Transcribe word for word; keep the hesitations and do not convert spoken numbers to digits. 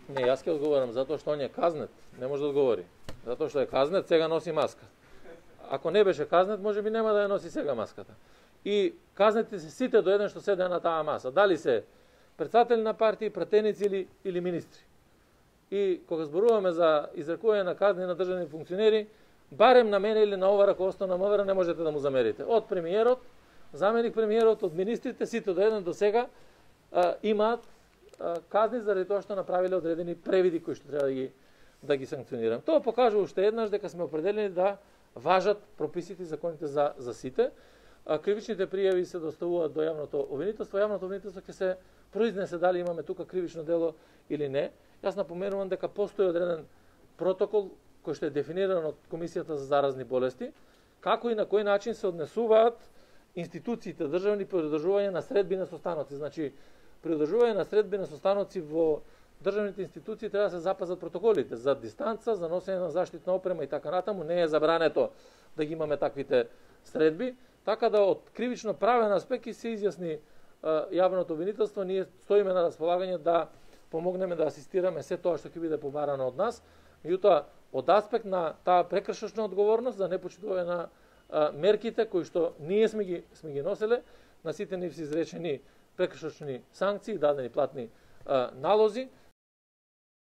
Не, јас ќе одговорам затоа што он е казнет, не може да одговори. Затоа што е казнет, сега носи маска. Ако не беше казнет, можеби нема да ја носи сега маската. И казнете се сите до еден што седе на таа маса. Дали се председатели на партии, пратеници или, или министри. И кога зборуваме за изрекување на казни на државни функционери, барем на мене или на ова раководство на МВР не можете да му замерите. Од премиерот, заменик премиерот, од министрите, сите до еден до сега а, имаат а, казни заради тоа што направиле одредени превиди кои што треба да ги да ги санкционирам. Тоа покажува уште еднаш дека сме определени да важат прописите и законите за за сите. А, кривичните пријави се доставуваат до јавното обвинителство. Јавното обвинителство ќе се произнесе дали имаме тука кривично дело или не. Јас напоменувам дека постои одреден протокол кој што е дефиниран од Комисијата за заразни болести, како и на кој начин се однесуваат институциите државни при одржување на средби на состаноци. Значи, при одржување на средби на состаноци во државните институции треба да се запазат протоколите за дистанца, за носење на заштитна опрема и така натаму. Не е забрането да ги имаме таквите средби, така да од кривично правен аспект и се изјасни јавното обвинителство, ние стоиме на располагање да помогнеме да асистираме се тоа што ќе биде побарано од нас. Меѓутоа, од аспект на таа прекршочна одговорност за непочитување на а, мерките кои што ние сме ги сме ги носеле, на сите нив се изречени прекршочни санкции, дадени платни а, налози.